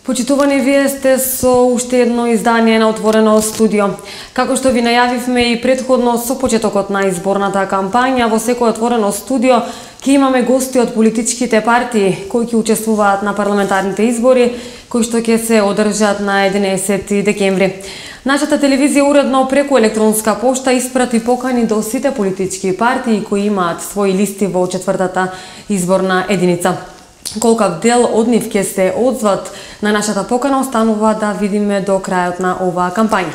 Почитувани, вие сте со уште едно издание на Отворено студио. Како што ви најавивме и претходно со почетокот на изборната кампања, во секој Отворено студио ќе имаме гости од политичките партии кои ќе учествуваат на парламентарните избори, кои што ќе се одржат на 11 декември. Нашата телевизија уредно преку електронска пошта испрати покани до сите политички партии кои имаат своји листи во четвртата изборна единица. Колкав дел од нив ќе се одзват на нашата покана останува да видиме до крајот на оваа кампања.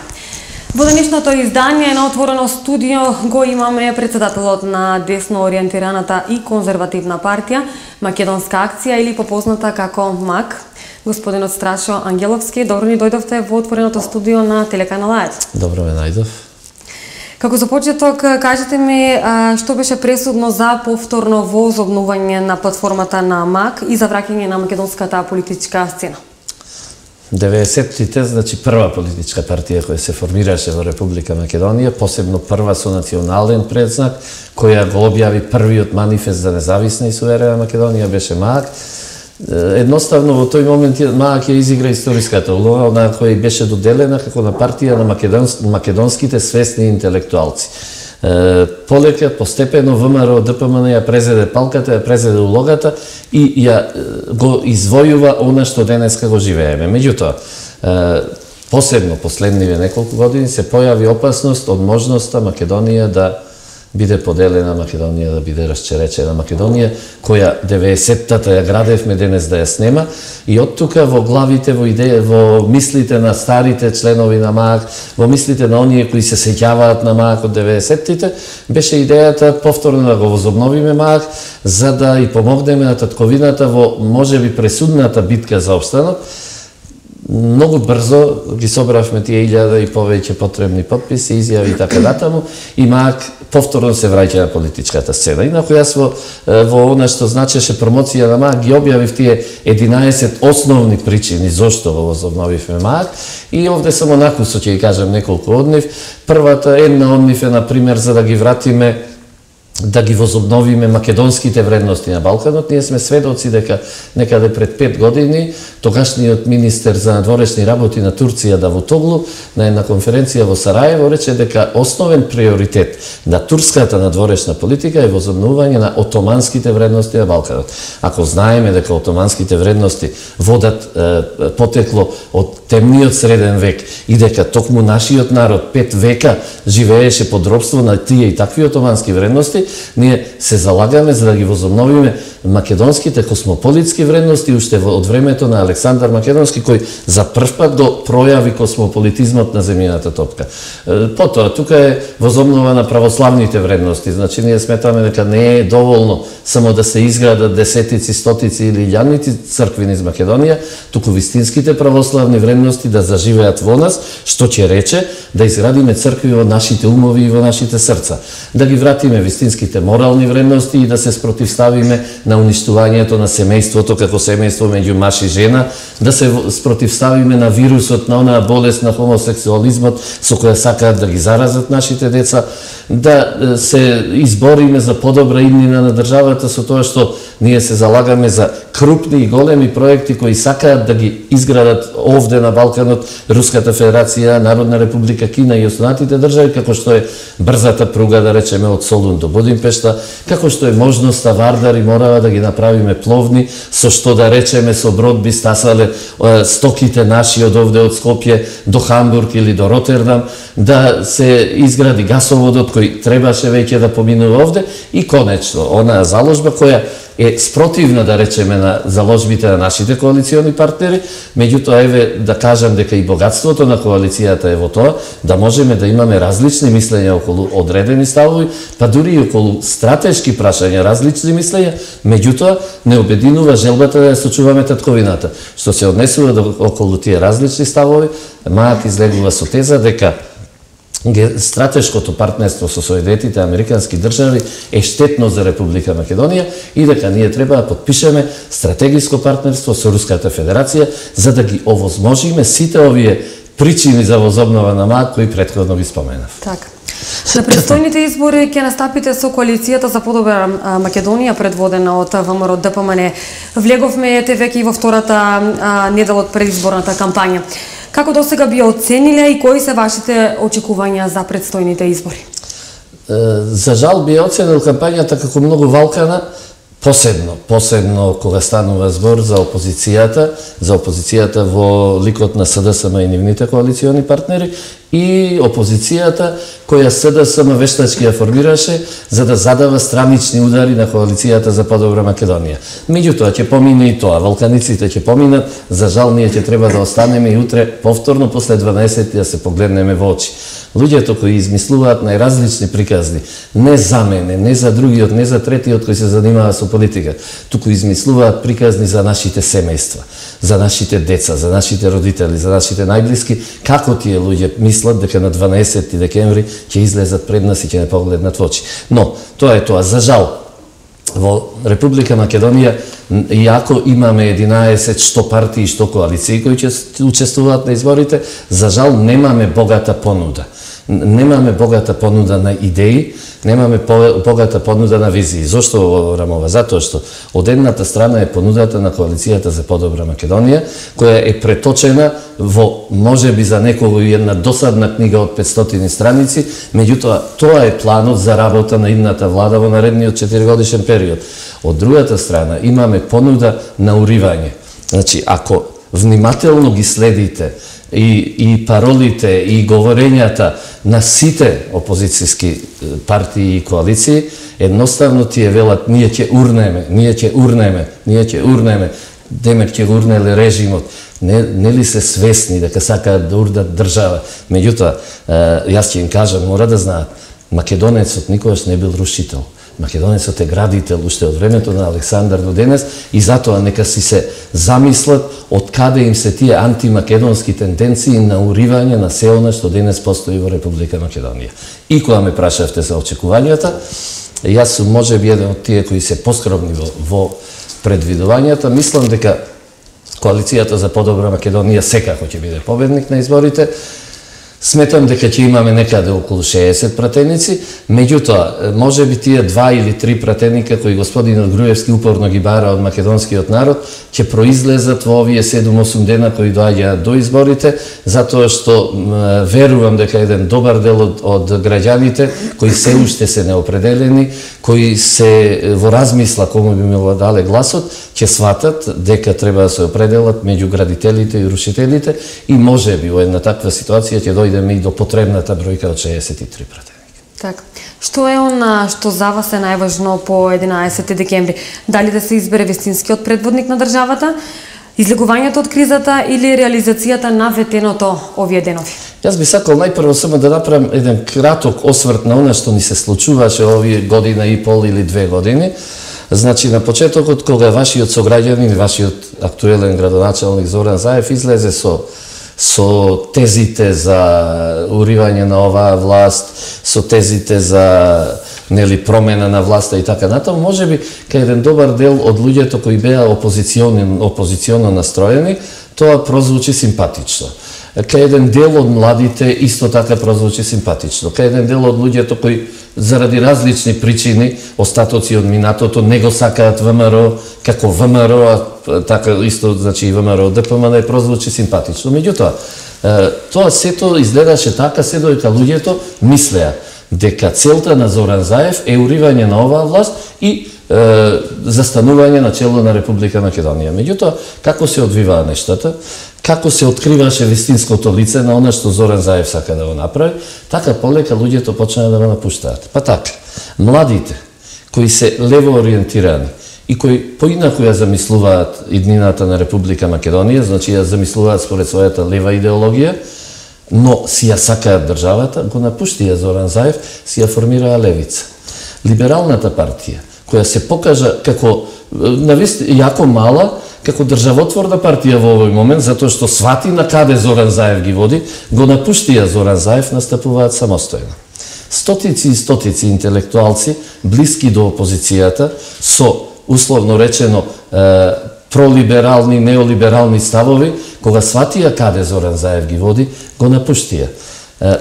Во денешното издание на Отворено студио го имаме председателот на десно ориентираната и конзервативна партија Македонска акција или попозната како МАК, господинот Страшо Ангеловски. Добро ни дојдовте во Отвореното студио на телеканал АЕЦ. Добро ме најдов. Како за почеток, кажете ми што беше пресудно за повторно возобнување на платформата на МАК и за враќање на македонската политичка сцена? 90-тите, значи прва политичка партија која се формираше во Република Македонија, посебно прва со национален предзнак, која го објави првиот манифест за независна и суверена Македонија беше МАК. Едноставно во тој момент МАК ја изигра историската улога, на која беше доделена како на партија на македонските свесни интелектуалци. Полека, постепено ВМРО ДПМН ја презеде палката, ја презеде улогата и ја го извојува она што денеска го живееме. Меѓутоа, посебно последниве неколку години се појави опасност од можноста Македонија да биде поделена, Македонија да биде расчеречена, Македонија која 90-тата ја градевме, денес да ја снема, и од тука во главите, во идеја, во мислите на старите членови на МАК, во мислите на оние кои се сеќаваат на МАК од 90-тите, беше идејата повторно да го возобновиме МАК, за да и помогнеме на татковината во можеби пресудната битка за опстанок. Многу брзо ги собравме тие 1000 и повеќе потребни потписи, изјави и така натаму, и МАК повторно се враќа на политичката сцена. Инаку јас во она што значеше промоција на МАК ги објавив тие 11 основни причини зошто го возобновивме МАК, и овде само накусо ќе ги кажам неколку од нив. Првата, една од нив е, например, за да ги вратиме, да ги возобновиме македонските вредности на Балканот. Ние сме сведоци дека некаде пред 5 години тогашниот министер за надворешни работи на Турција Давутоглу на една конференција во Сараево рече дека основен приоритет на турската надворешна политика е возобновување на отоманските вредности на Балканот. Ако знаеме дека отоманските вредности водат потекло од темниот среден век и дека токму нашиот народ 5 века живееше под робство на тие и такви отомански вредности, ние се залагаме за да ги возобновиме македонските космополитски вредности уште од времето на Александар Македонски, кој за првпат го пројави космополитизмот на земјината топка. Потоа, тука е возобнова на православните вредности. Значи, ние сметаме дека не е доволно само да се изградат десетици, стотици или илјадници цркви низ Македонија, туку вистинските православни вредности да заживеат во нас, што ќе рече да изградиме цркви во нашите умови и во нашите срца. Да ги вратиме вистинските морални вредности и да се спротивставиме на уништувањето на семејството како семејство меѓу маж и жена, да се спротивставиме на вирусот, на онаа болест на хомосексуализмот со која сакаат да ги заразат нашите деца, да се избориме за подобра иднина на државата со тоа што ние се залагаме за крупни и големи проекти кои сакаат да ги изградат овде на Балканот Руската Федерација, Народна република Кина и останатите држави, како што е брзата пруга, да речеме, од Солун до Будимпешта, како што е можноста Вардар и Морава да ги направиме пловни, со што, да речеме, со брод би стасале стоките наши од овде од Скопје до Хамбург или до Ротердам, да се изгради гасоводот кој требаше веќе да поминува овде, и конечно, онаа заложба која е спротивна, да речеме, на заложбите на нашите коалициони партнери, меѓутоа, еве, да кажам дека и богатството на коалицијата е во тоа, да можеме да имаме различни мислења околу одредени ставови, па дури и околу стратешки прашања различни мислења, меѓутоа, не обединува желбата да ја сочуваме татковината. Што се однесува околу тие различни ставови, МАК излегува со теза дека стратешкото партнерство со Соединетите американски држави е штетно за Република Македонија и дека ние треба да подпишеме стратегиско партнерство со Руската Федерација за да ги овозможиме сите овие причини за возобнова на МАК кои претходно ги споменав. Така. На предстојните избори ќе настапите со коалицијата за подобра Македонија, предводена од ВМРО ДПМН. Влеговме веќе и во втората недела од предизборната кампања. Како досега би оцениле и кои се вашите очекувања за предстојните избори? За жал би оценил кампањата како многу валкана, посебно кога станува збор за опозицијата во ликот на СДСМ и нивните коалициони партнери и опозицијата која СДСМ вештачки ја формираше за да задава странични удари на коалицијата за подобра Македонија. Меѓутоа ќе помине и тоа, валканиците ќе поминат, за жал ние ќе треба да останеме и утре повторно после 12 да се погледнеме во очи. Луѓето кои измислуваат најразлични приказни, не за мене, не за другиот, не за третиот кој се занимава со политика, туку измислуваат приказни за нашите семејства, за нашите деца, за нашите родители, за нашите најблиски, како тие луѓе мислат дека на 12 декември ќе излезат пред нас и ќе не погледнат во очи. Но, тоа е тоа, за жал, во Република Македонија, иако имаме 11 што партии и што коалиции кои ќе учествуваат на изборите, за жал немаме богата понуда. Немаме богата понуда на идеи, немаме богата понуда на визии. Зошто говорам ова? Затоа што од едната страна е понудата на коалицијата за подобра Македонија, која е преточена во можеби за некого и една досадна книга од 500 страници, меѓутоа тоа е планот за работа на идната влада во наредниот 4-годишен период. Од другата страна имаме понуда на уривање. Значи, ако внимателно ги следите и паролите и говорењата на сите опозицијски партии и коалиции, едноставно тие велат ние ќе урнеме, демек ќе урнеле режимот. Не ли се свесни дека сакаат да урдат држава? Меѓутоа, јас ќе им кажам, мора да знаат, македонецот никогаш не бил рушител. Македонецот е градител уште од времето на Александар до денес и затоа нека си се замислат од каде им се тие антимакедонски тенденции на уривање на се она што денес постои во Република Македонија. И кога ме прашавте за очекувањата, јас сум можеби еден од тие кои се поскромни во предвидувањата, мислам дека коалицијата за подобра Македонија секако ќе биде победник на изборите. Сметам дека ќе имаме некаде околу 60 пратеници, меѓутоа, може би тие 2 или 3 пратеника кои господинот Груевски упорно ги бара од македонскиот народ, ќе произлезат во овие 7-8 дена кои доаѓаат до изборите, затоа што верувам дека еден добар дел од граѓаните кои се уште се неопределени, кои се во размисла кому би му дале гласот, ќе сватат дека треба да се определат меѓу градителите и рушителите и можеби во една таква ситуација ќе дојдеме и до потребната бројка од 63 пратеника. Така. Што е она што за вас е најважно по 11 декември? Дали да се избере вистинскиот предводник на државата, излегувањето од кризата или реализацијата на ветеното овие денови? Јас би сакал најпрво само да направам еден краток осврт на она што ни се случуваше овие година и пол или 2 години. Значи, на почетокот, кога вашиот сограѓанин, вашиот актуелен градоначалник Зоран Заев излезе со тезите за уривање на оваа власт, со тезите за промена на власта и така натаму, можеби кај еден добар дел од луѓето кои беа опозиционно настроени, тоа прозвучи симпатично. Кај еден дел од младите исто така прозвучи симпатично. Кај еден дел од луѓето кои заради различни причини, остатоци од минатото, не го сакаат ВМРО, како ВМРО, така исто, значи и ВМРО ДПМН прозвучи симпатично. Меѓутоа, тоа сето изгледаше така, се додека луѓето мислеа дека целта на Зоран Заев е уривање на оваа власт и застанување на чело на Република Македонија. Меѓутоа, како се одвиваа нештата, како се откриваше вистинското лице на она што Зоран Заев сака да го направи, така полека луѓето почнаа да го напуштаат. Па така, младите, кои се лево ориентирани и кои поинаку ја замислуваат иднината на Република Македонија, значи ја замислуваат според својата лева идеологија, но си ја сакаат државата, го напуштија Зоран Заев, си ја формираа левица. Либералната партија, која се покажа како јако мала, како државотворна партија во овој момент, затоа што свати на каде Зоран Заев ги води, го напуштија Зоран Заев, настапуваат самостојно. Стотици и стотици интелектуалци, блиски до опозицијата, со, условно речено, пролиберални, неолиберални ставови, кога сватија каде Зоран Заев ги води, го напуштија.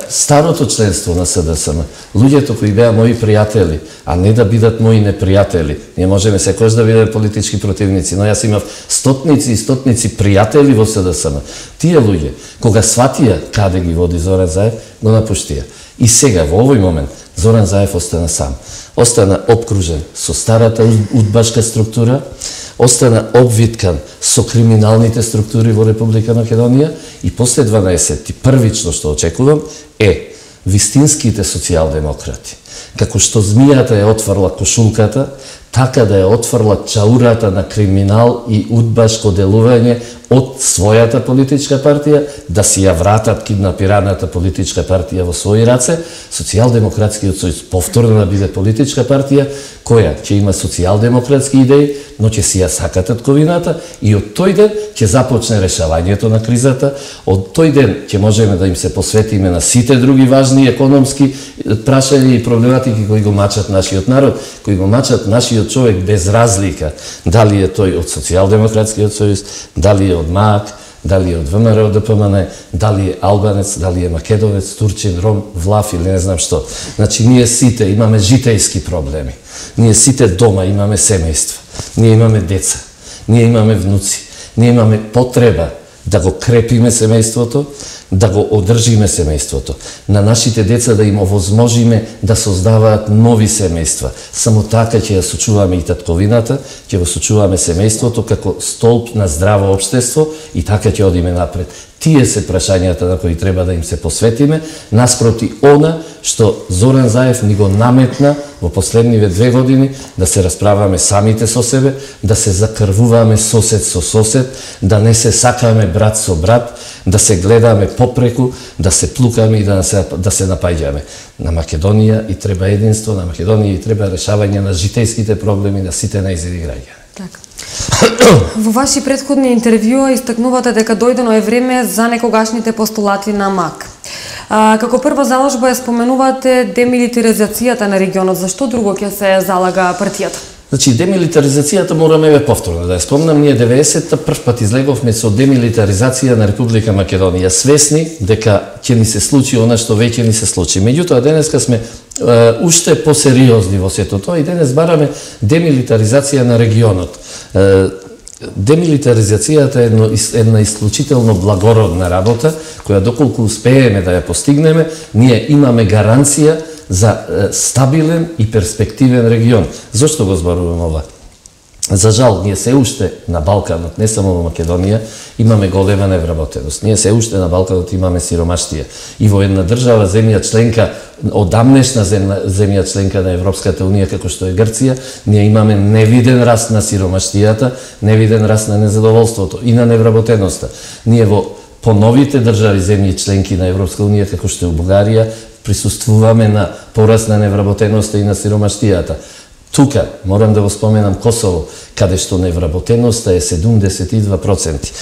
старото членство на СДСМ, луѓето кои беа мои пријатели, а не да бидат мои непријатели. Ние можеме секојаш да бидеме политички противници, но јас имав стотници и стотници пријатели во СДСМ. Тие луѓе, кога сватија каде ги води Зоран Заев, го напуштија. И сега, во овој момент, Зоран Заев остана сам. Остана обкружен со старата удбашка структура, остана обвиткан со криминалните структури во Република Македонија и после 12 првично што очекувам е вистинските социјалдемократи. Како што змијата ја отврла кошулката, така да ја отврла чаурата на криминал и удбашко делување од својата политичка партија, да си ја вратат киднапираната политичка партија во своји раце, Социјалдемократскиот сојуз повторно да биде политичка партија која ќе има социјалдемократски идеи, но ќе си ја сака татковината и од тој ден ќе започне решавањето на кризата, од тој ден ќе можеме да им се посветиме на сите други важни економски прашања и проблематики кои го мачат нашиот народ, кои го мачат нашиот човек без разлика, дали е тој од Социјалдемократскиот сојуз, дали е од МААК, дали е од ВМРО ДПМН, дали е албанец, дали е македонец, турчин, ром, влав или не знам што. Значи, ние сите имаме житејски проблеми. Ние сите дома имаме семејства. Ние имаме деца. Ние имаме внуци. Ние имаме потреба да го крепиме семејството, да го одржиме семејството. На нашите деца да им овозможиме да создаваат нови семејства. Само така ќе ја сочуваме и татковината, ќе го сочуваме семејството како столб на здраво општество и така ќе одиме напред. Тие се прашањата на кои треба да им се посветиме, наспроти она што Зоран Заев ни го наметна во последниве 2 години, да се расправаме самите со себе, да се закрвуваме сосед со сосед, да не се сакаме брат со брат, да се гледаме попреку, да се плукаме и да се напаѓаме. На Македонија и треба единство, на Македонија и треба решавање на житејските проблеми на сите нејзини граѓани. Така. Во ваши претходни интервјуа истакнувате дека дојдено е време за некогашните постулати на МАК. Како прва заложба ја споменувате демилитаризацијата на регионот. Зашто друго ќе се залага партијата? Значи, демилитаризацијата мораме повторно да ја спомнам. Ние 90-та прв пат излеговме со демилитаризација на Република Македонија, свесни дека ќе ни се случи она што веќе ни се случи. Меѓутоа, денеска сме уште посериозни во сето тоа и денес бараме демилитаризација на регионот. Демилитаризацијата е една исклучително благородна работа, која доколку успееме да ја постигнеме, ние имаме гаранција за стабилен и перспективен регион. Зошто го зборувам ова? За жал, ние се уште на Балканот, не само во Македонија, имаме голема невработеност. Ние се уште на Балканот имаме сиромаштија. И во една држава, земја членка, одамнешна земја членка на Европската Унија, како што е Грција, ние имаме невиден раст на сиромаштијата, невиден раст на незадоволството и на невработеноста. Ние во поновите држави земји членки на Европска Унија, како што е Бугарија, присуствуваме на пораст на невработеноста и на сиромаштијата. Тука, морам да го споменам Косово, каде што невработеноста е 72%.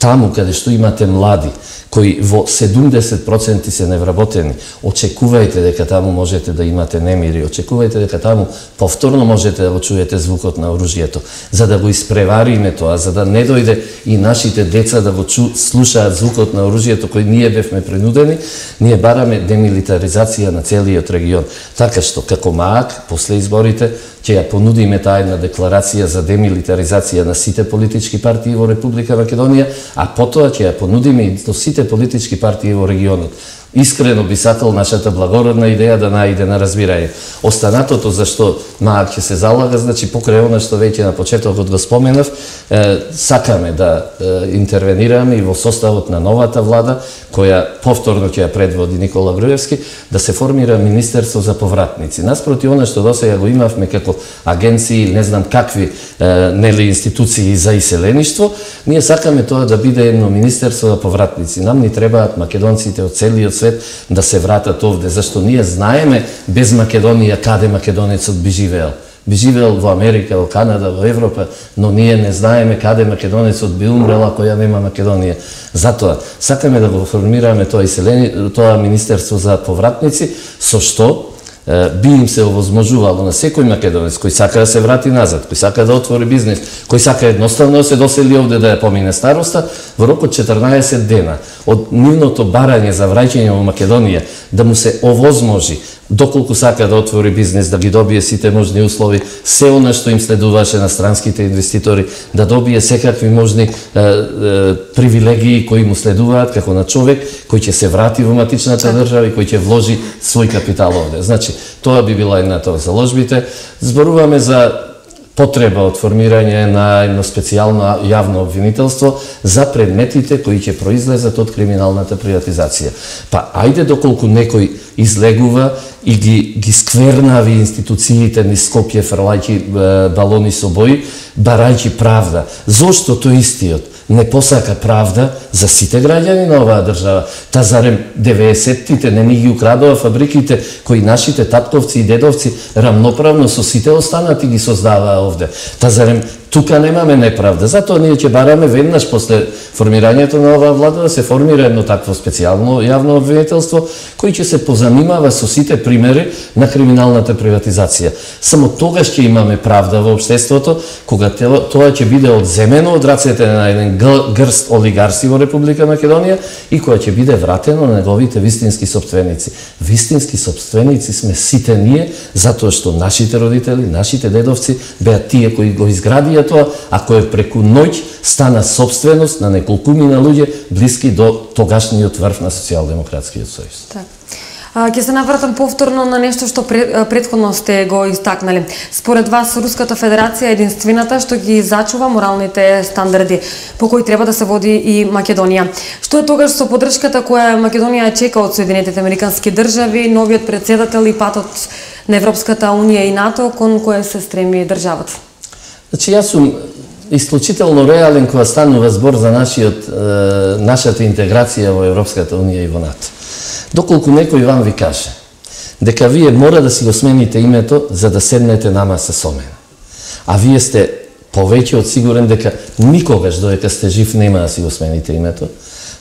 Таму каде што имате млади, кои во 70% се невработени, очекувајте дека таму можете да имате немири, очекувајте дека таму повторно можете да го чуете звукот на оружјето, за да го испревариме тоа, за да не дојде и нашите деца да го слушаат звукот на оружјето кој ние бевме принудени, ние бараме демилитаризација на целиот регион. Така што, како МААК, после изборите, ќе ја понудиме таа една декларација за демилитаризација на сите политички партии во Република Македонија, а потоа ќе ја понудиме и до сите политички партии во регионот. Искрено би сакал нашата благородна идеја да најде на разбирање. Останатото за што МААК ќе се залага, значи покрај она што веќе на почетокот го споменав, сакаме да интервенираме и во составот на новата влада, која повторно ќе ја предводи Никола Груевски, да се формира Министерство за повратници. Наспроти она што досега го имавме како агенции или не знам какви институции за иселеништво, ние сакаме тоа да биде едно Министерство за повратници. Нам ни требаат македонците од целиот свет да се вратат овде, зашто ние знаеме без Македонија каде македонецот би живеел. Би живеел во Америка, во Канада, во Европа, но ние не знаеме каде македонецот би умрел ако ја нема Македонија. Затоа сакаме да го формираме тоа Министерство за повратници, со што би им се овозможувало на секој македонец кој сака да се врати назад, кој сака да отвори бизнес, кој сака едноставно да се досели овде да ја помине староста, во рок од 14 дена од нивното барање за враќање во Македонија да му се овозможи доколку сака да отвори бизнес, да ги добие сите можни услови, се она што им следуваше на странските инвеститори, да добие секакви можни привилегии кои му следуваат како на човек кој ќе се врати во матичната држава и кој ќе вложи свој капитал овде. Значи, тоа би била едната од заложбите. Зборуваме за потреба од формирање на едно специјално јавно обвинителство за предметите кои ќе произлезат од криминалната приватизација. Па, ајде доколку некој излегува и ги сквернави институциите низ Скопје фрлајќи балони со бои, барајќи правда. Зошто тој истиот не посака правда за сите граѓани на оваа држава? Та зарем 90-тите не ни ги украдува фабриките кои нашите татковци и дедовци рамноправно со сите останати ги создаваа овде? Та зарем тука немаме неправда? Затоа ние ќе бараме веднаш после формирањето на оваа влада да се формира едно такво специјално јавно обвинителство кој ќе се позанимава со сите примери на криминалната приватизација. Само тогаш ќе имаме правда во општеството, кога тоа ќе биде одземено од рацете на еден грст олигарси во Република Македонија и која ќе биде вратено на неговите вистински сопственици. Вистински сопственици сме сите ние, затоа што нашите родители, нашите дедовци беа тие кои го изградија тоа, а кој преку ноќ стана сопственост на неколкумина луѓе блиски до тогашниот врв на Социјалдемократскиот сојуз. Так. Ќе се навратам повторно на нешто што претходно сте го истакнали. Според вас, Руската Федерација е единствената што ги зачува моралните стандарди по кои треба да се води и Македонија. Што е тогаш со поддршката која Македонија чека од Соединетите Американски држави, новиот претседател и патот на Европската Унија и НАТО кон која се стреми државата? Значи, јас сум исклучително реален кога станува збор за нашата интеграција во Европската Унија и во НАТО. Доколку некој вам ви каже дека вие мора да си го смените името за да седнете на маса со мене, а вие сте повеќе од сигурен дека никогаш додека сте жив нема да си го смените името,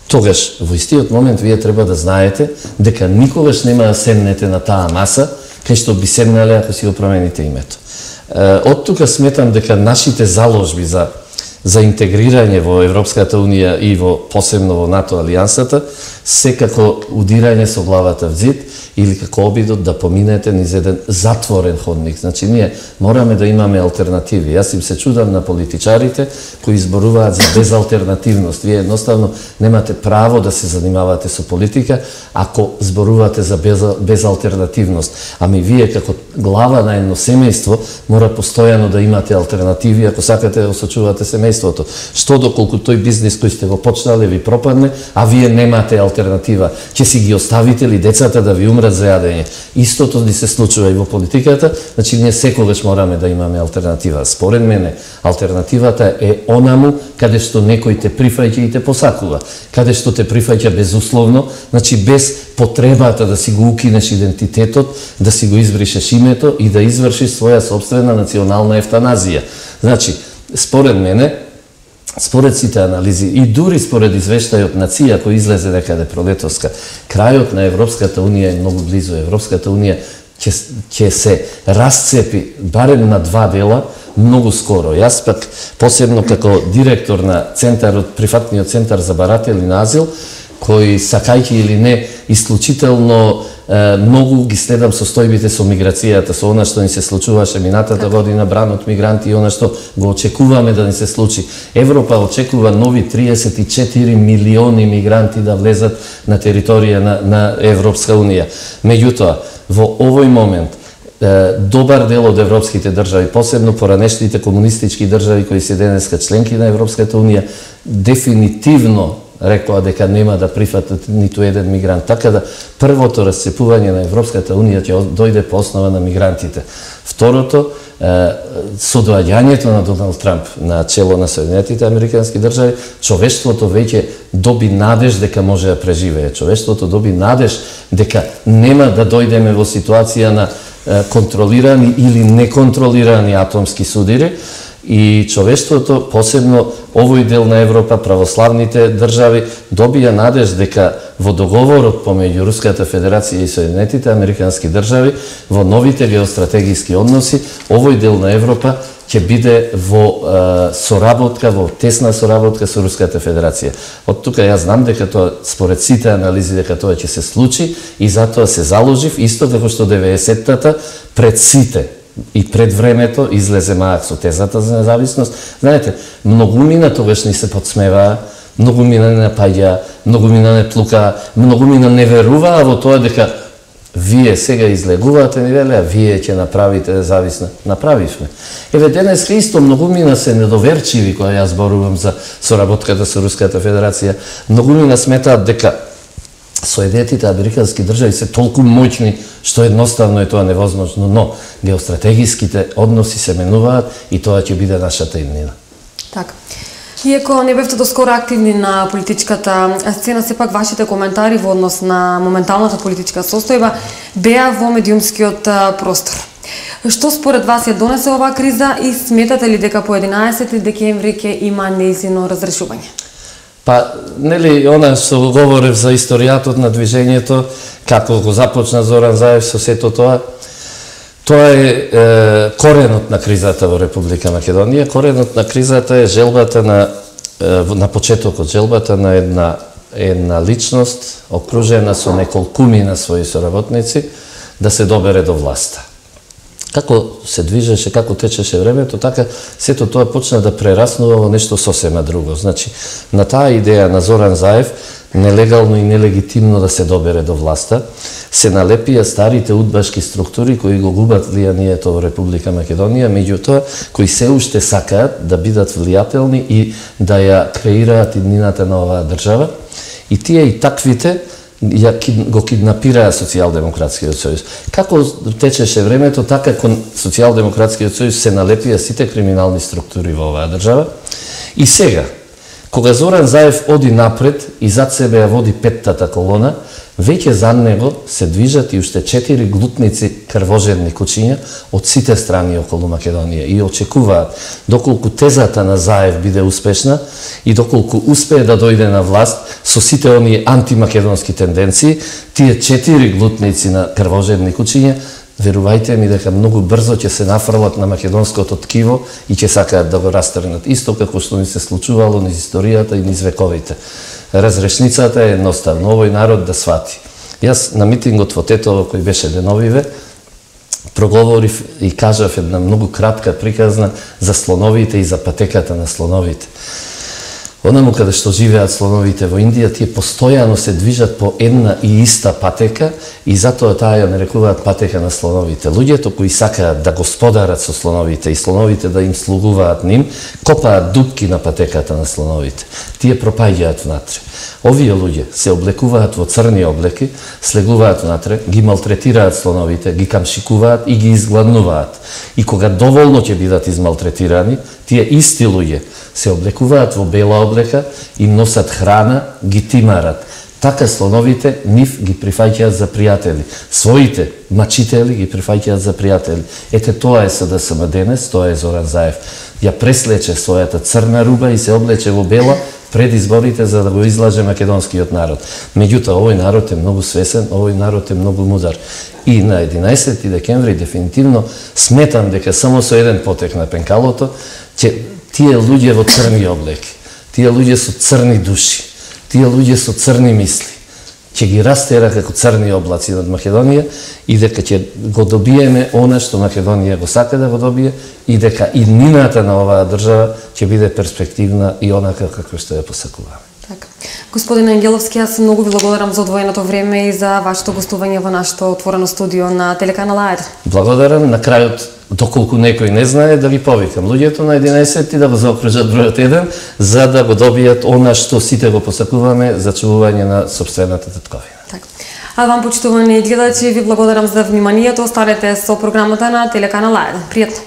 тогаш во истиот момент вие треба да знаете дека никогаш нема да седнете на таа маса кај што би седнале ако си го промените името. Од тука сметам дека нашите заложби за интегрирање во Европската Унија и посебно во НАТО алијансата секако удирање со главата в зид или како обидот да поминете низ еден затворен ходник. Значи, ние мораме да имаме алтернативи. Јас им се чудам на политичарите кои зборуваат за безалтернативност. Вие едноставно немате право да се занимавате со политика ако зборувате за безалтернативност. Ами вие како глава на едно семејство мора постојано да имате алтернативи ако сакате да осочувате семејството. Што доколку тој бизнис кој сте го почнале ви пропадне, а вие немате алтернатива, ќе си ги оставите ли децата да ви умрат за јадење? Истото ни се случува и во политиката, значи ние секогаш мораме да имаме алтернатива. Според мене, алтернативата е онаму каде што некој те прифаќа и те посакува, каде што те прифаќа безусловно, значи без потребата да си го укинеш идентитетот, да си го избришеш името и да извршиш своја собствена национална ефтаназија. Значи, според мене, според сите анализи и дури според извештајот на ЦИА кој излезе некаде пролетоска, крајот на Европската Унија е многу близо. Европската Унија ќе се расцепи барем на два дела многу скоро. Јас пак посебно како директор на центарот, прифатниот центар за баратели на азил, кој сакајќи или не исклучително многу ги следам состојбите со миграцијата, со она што ни се случуваше минатата година, бран од мигранти и она што го очекуваме да ни се случи. Европа очекува нови 34 милиони мигранти да влезат на територија на Европска Унија. Меѓутоа, во овој момент добар дел од европските држави, посебно поранешните комунистички држави кои се денеска членки на Европската Унија, дефинитивно рекоа дека нема да прифатат ниту еден мигрант. Така да првото расцепување на Европската Унија ќе дојде по основа на мигрантите. Второто, со доаѓањето на Доналд Трамп на чело на Соединетите Американски држави, човештвото веќе доби надеж дека може да преживее. Човештвото доби надеж дека нема да дојдеме во ситуација на контролирани или неконтролирани атомски судири и човештвото, посебно овој дел на Европа, православните држави, добија надеж дека во договорот помеѓу Руската Федерација и Соединетите Американски држави, во новите геостратегиски односи, овој дел на Европа ќе биде во соработка, во тесна соработка со Руската Федерација. Од тука јас знам дека тоа, според сите анализи, дека тоа ќе се случи и затоа се заложив, исто како што 90-тата пред сите и пред времето излезе Маак со тезата за независност. Знаете, многумина тогаш ни се подсмеваа, многумина не напаѓаа, многумина не плукаа, многумина не веруваа во тоа дека вие сега излегувате, ни велеа, вие ќе направите независна. Направивме. Еве денеска исто многумина се недоверчиви кога јас зборувам за соработката со Руската Федерација. Многумина сметаат дека Соединетите Американски држави се толку моćни што едноставно е тоа невозможно, но геостратегиските односи се менуваат и тоа ќе биде нашата иднина. Така. Иако не бевте доскоро активни на политичката сцена, сепак вашите коментари во однос на моменталната политичка состојба беа во медиумскиот простор. Што според вас ја донесе оваа криза и сметате ли дека по 11 декември ќе има нејзино разрешување? Па, нели, она што говорев за историјатот на движењето, како го започна Зоран Заев со сето тоа, тоа е коренот на кризата во Република Македонија. Коренот на кризата е желбата на почетокот, желбата на една личност, окружена со неколкумина своји соработници, да се добере до власта. Како се движеше, како течеше времето, така сето тоа почна да прераснува во нешто сосема друго. Значи, на таа идеја на Зоран Заев, нелегално и нелегитимно да се добере до власта, се налепија старите удбашки структури кои го губат влијанието во Република Македонија, меѓутоа кои се уште сакаат да бидат влијателни и да ја креираат иднината на оваа држава. И тие и таквите го киднапираа Социјалдемократскиот сојуз. Како течеше времето, така кон Социјалдемократскиот сојуз се налепија сите криминални структури во оваа држава. И сега, кога Зоран Заев оди напред и зад себе ја води петтата колона, веќе за него се движат и уште 4 глутници крвожедни кучиња од сите страни околу Македонија и очекуваат, доколку тезата на Заев биде успешна и доколку успее да дојде на власт со сите оние антимакедонски тенденции, тие 4 глутници на крвожедни кучиња, верувајте ми дека многу брзо ќе се нафрлат на македонското ткиво и ќе сакаат да го растргнат. Исто како што ни се случувало низ историјата и низ вековите. Разрешницата е едноставно, овој народ да свати. Јас на митингот во Тетово, кој беше деновиве, проговорив и кажав една многу кратка приказна за слоновите и за патеката на слоновите. Онаму каде што живеат слоновите во Индија, тие постојано се движат по една и иста патека и затоа таа ја нарекуваат патека на слоновите. Луѓето кои сакаат да господарат со слоновите и слоновите да им слугуваат ним, копаат дупки на патеката на слоновите. Тие пропаѓаат внатре. Овие луѓе се облекуваат во црни облеки, слегуваат внатре, ги малтретираат слоновите, ги камшикуваат и ги изгладнуваат. И кога доволно ќе бидат измалтретирани, тие исти луѓе се облекуваат во бела облека, им носат храна, ги тимарат. Така слоновите нив ги прифаќаат за пријатели. Своите мачители ги прифаќаат за пријатели. Ете тоа е СДСМ денес, тоа е Зоран Заев. Ја преслече својата црна руба и се облече во бела пред изборите за да го излаже македонскиот народ. Меѓутоа, овој народ е многу свесен, овој народ е многу мудар. И на 11 декември дефинитивно сметам дека само со еден потек на пенкалото ќе тие луѓе во црни облеки, тие луѓе со црни души, тие луѓе со црни мисли, ќе ги растера како црни облаци над Македонија и дека ќе го добиеме она што Македонија го сака да го добие и дека иднината на оваа држава ќе биде перспективна и онака како што ја посакуваме. Така. Господин Ангеловски, јас многу ви благодарам за одвоеното време и за вашето гостување во нашето отворено студио на телеканал АЕД. Благодарам. На крајот, доколку некој не знае, да ги повикам луѓето на 11 и да го заокружат бројот 1, за да го добијат она што сите го посакуваме за чувување на сопствената татковина. Така. А вам, почитувани гледачи, ви благодарам за вниманието. Останете со програмата на телеканал АЕД. Пријатно.